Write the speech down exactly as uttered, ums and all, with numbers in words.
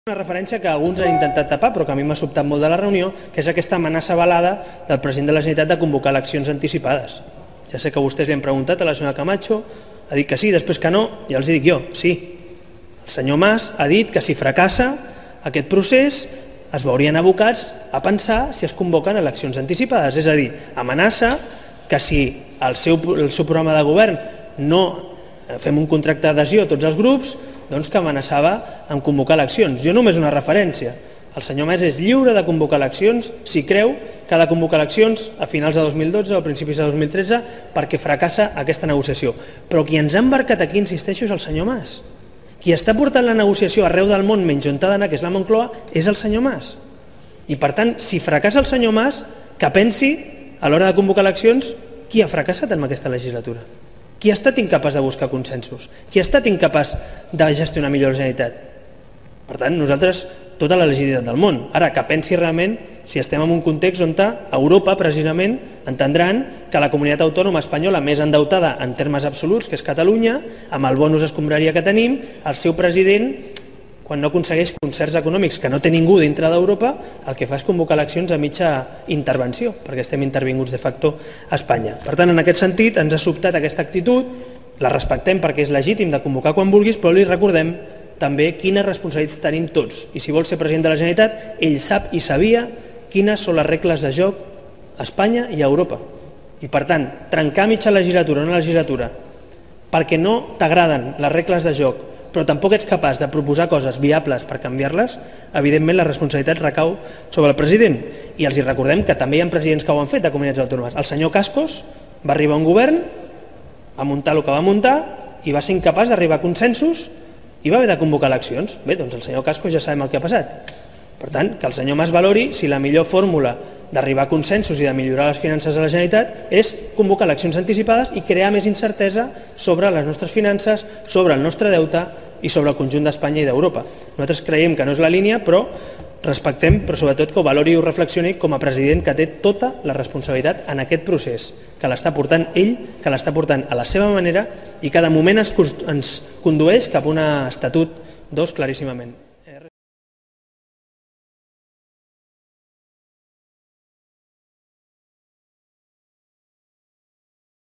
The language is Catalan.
Una referència que alguns han intentat tapar, però que a mi m'ha sobtat molt de la reunió, que és aquesta amenaça velada del president de la Generalitat de convocar eleccions anticipades. Ja sé que vostès li han preguntat a la senyora Camacho, ha dit que sí, després que no, ja els dic jo, sí. El senyor Mas ha dit que si fracassa aquest procés es veurien abocats a pensar si es convoquen eleccions anticipades, és a dir, amenaça que si el seu, el seu programa de govern no fem un contracte d'adhesió a tots els grups, doncs que amenaçava en convocar eleccions. Jo només una referència. El senyor Mas és lliure de convocar eleccions si creu que ha de convocar eleccions a finals de dos mil dotze o a principis de dos mil tretze perquè fracassa aquesta negociació. Però qui ens ha embarcat aquí, insisteixo, és el senyor Mas. Qui està portant la negociació arreu del món menys on ha d'anar, que és la Moncloa, és el senyor Mas. I per tant, si fracassa el senyor Mas, que pensi a l'hora de convocar eleccions qui ha fracassat en aquesta legislatura. Qui ha estat incapaç de buscar consensos? Qui ha estat incapaç de gestionar millor la Generalitat? Per tant, nosaltres, tota la legitimitat del món. Ara, que pensi realment si estem en un context on a Europa, precisament, entendran que la comunitat autònoma espanyola més endeutada en termes absoluts, que és Catalunya, amb el bonus escombraria que tenim, el seu president, quan no aconsegueix concerts econòmics que no té ningú dintre d'Europa, el que fa és convocar eleccions a mitja intervenció, perquè estem intervinguts de facto a Espanya. Per tant, en aquest sentit, ens ha sobtat aquesta actitud, la respectem perquè és legítim de convocar quan vulguis, però li recordem també quines responsabilitats tenim tots. I si vol ser president de la Generalitat, ell sap i sabia quines són les regles de joc a Espanya i a Europa. I per tant, trencar mitja legislatura, una legislatura, perquè no t'agraden les regles de joc, però tampoc ets capaç de proposar coses viables per canviar-les, evidentment la responsabilitat recau sobre el president. I els recordem que també hi ha presidents que ho han fet de comunitats autònomes. El senyor Cascos va arribar a un govern, va muntar el que va muntar i va ser incapaç d'arribar a consensos i va haver de convocar eleccions. Bé, doncs el senyor Cascos ja sabem el que ha passat. Per tant, que el senyor Mas valori si la millor fórmula d'arribar a consensos i de millorar les finances de la Generalitat és convocar eleccions anticipades i crear més incertesa sobre les nostres finances, sobre el nostre deute i sobre el conjunt d'Espanya i d'Europa. Nosaltres creiem que no és la línia, però respectem, però sobretot que ho valori i ho reflexioni com a president que té tota la responsabilitat en aquest procés, que l'està portant ell, que l'està portant a la seva manera i que de moment ens condueix cap a un estatut dos claríssimament.